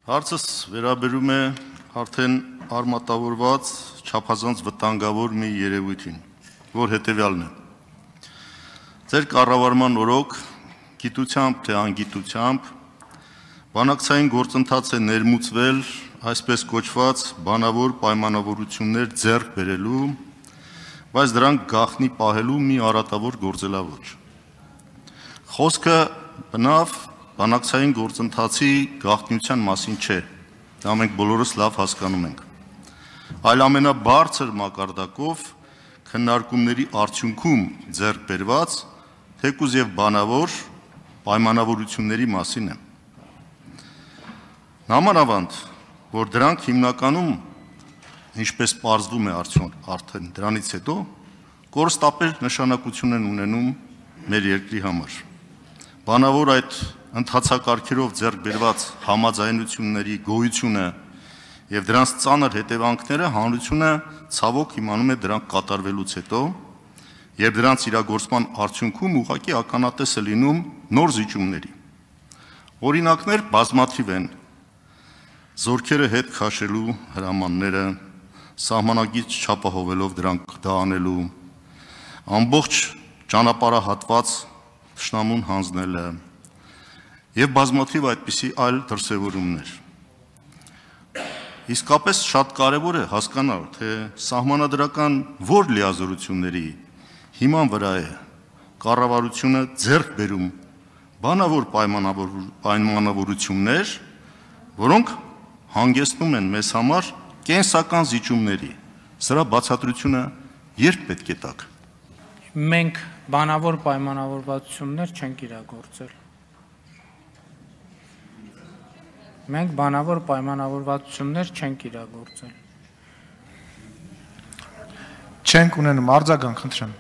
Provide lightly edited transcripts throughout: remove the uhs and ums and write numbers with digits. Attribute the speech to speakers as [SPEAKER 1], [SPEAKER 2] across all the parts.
[SPEAKER 1] Հարցս վերաբերում է արդեն արմատավորված չափազանց վտանգավոր մի երևույթին, որ հետևյալն է։ Ձեր կառավարման օրոք գիտությամբ թե անգիտությամբ բանակցային գործընթաց է ներմուծվել այսպես կոչված բանավոր պայմանավորություններ ձեռք բերելու, բայց դրանք գաղտնի պահելու մի արատավոր գործելավոճ։ Խոսքը բնավ բանակցային գործընթացի գաղտնիության մասին չէ, դա մենք բոլորս լավ հասկանում ենք, այլ ամենաբարձր մակարդակով քննարկումների արդյունքում ձեռք բերված թեկուզ եւ բանավոր պայմանավորությունների մասին է։ Նամանավանդ, որ դրանք հիմնականում, ինչպես պարզվում է արդեն դրանից հետո, կորստապեր նշանակություն են ունենում մեր երկրի համար։ Բանավոր այդ ընթացակարգերով ձեռք բերված համաձայնությունների գոյությունը եւ դրանց ծանր հետևանքները հանրությունը ցավոք իմանում է դրանք կատարվելուց հետո, եւ դրանց իրագործման արդյունքում ուղղակի ականատես է լինում նոր զիջումների։ Օրինակներ բազմաթիվ են. զորքերը հետ քաշելու հրամանները, սահմանագիծ չափահովելով դրանք դանելու, ամբողջ ճանապարհահատված թշնամուն հանձնելը եւ բազմաթիվ այդպիսի այլ դրսևորումներ։ Իսկապես շատ կարևոր է հասկանալ, թե սահմանադրական որ լիազորությունների հիման վրա է կառավարությունը ձեռք բերում բանավոր պայմանավորություններ, որոնք հանգեցնում են մեզ համար կենսական զիջումների։ Սրա բացատրությունը երբ պետք է տաք։
[SPEAKER 2] Մենք բանավոր պայմանավորվածություններ չենք իրագործել։ Մենք բանավոր պայմանավորվածություններ չենք իրագործել։
[SPEAKER 3] Չենք ունենում, արձագանք, խնդրեմ։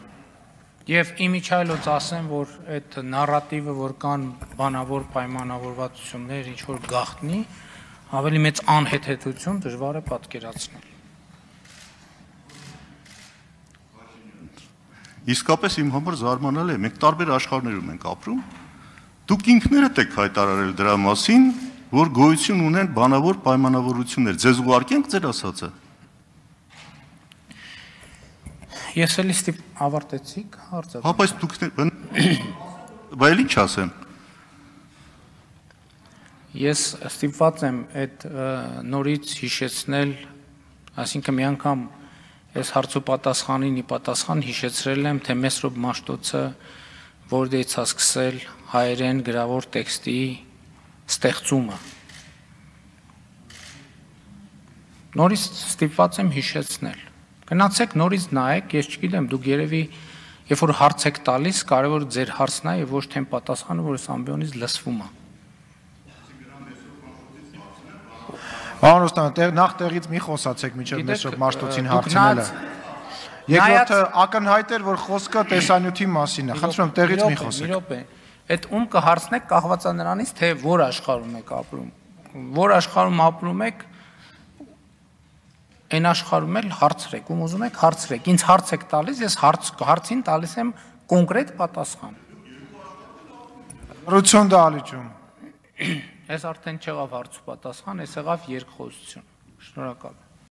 [SPEAKER 2] Եվ իմիջայլոց ասեմ, որ այդ նարատիվը, որ կան բանավոր պայմանավորվածություններ, ինչ որ գաղտնի, ավելի մեծ անհեթեթություն դժվար է պատկերացնել։
[SPEAKER 1] Իսկապես իմ համար զարմանալի է, մենք տարբեր աշխարհներում ենք ապրում, դուք ինքներդ եք հայտարարել դրա մասին, որ գոյություն ունեն բանավոր պայմանավորություններ, ձեզ ուղարկենք ձեր ասածը։
[SPEAKER 2] Ես էլի ավարտեցիք հարցը։
[SPEAKER 1] Հա, բայց դուք բայց ինչ ասեմ։
[SPEAKER 2] Ես ստիպված եմ այդ նորից հիշեցնել, այսինքն մի անգամ այս հարցու պատասխանին ի պատասխան հիշեցրել եմ, թե Մեսրոպ Մաշտոցը որտեղից է սկսել հայերեն գրավոր տեքստի ստեղծումը։ Նորից ստիպված եմ հիշեցնել։ Գնացեք նորից նայեք, ես չգիտեմ, դուք երևի երբ որ հարց եք տալիս, կարևոր ձեր հարցն է եւ ոչ թե պատասխանը, որ այս ամբիոնից լսվում է։
[SPEAKER 3] Պարոն Ռուստամյան, նախ տեղից մի խոսացեք մինչև Մեսրոպ Մաշտոցին հարցնելը։ Երկրորդը ակնհայտ էր, որ խոսքը տեսանյութի մասին է։ Խնդրում եմ տեղից մի խոսեք։
[SPEAKER 2] Այդ ում կհարցնեք կախված է նրանից, թե որ աշխարհում եք ապրում։ Որ աշխարհում ապրում եք, այն աշխարհում էլ հարցրեք, ում ուզում եք հարցրեք։ Ինձ հարց եք տալիս, ես հարցին տալիս եմ կոնկրետ պատասխան։
[SPEAKER 3] Ռություն դալիճում։
[SPEAKER 2] Այս արդեն չեղավ հարց ու պատասխան, այս եղավ երկխոսություն։ Շնորհակալ եմ։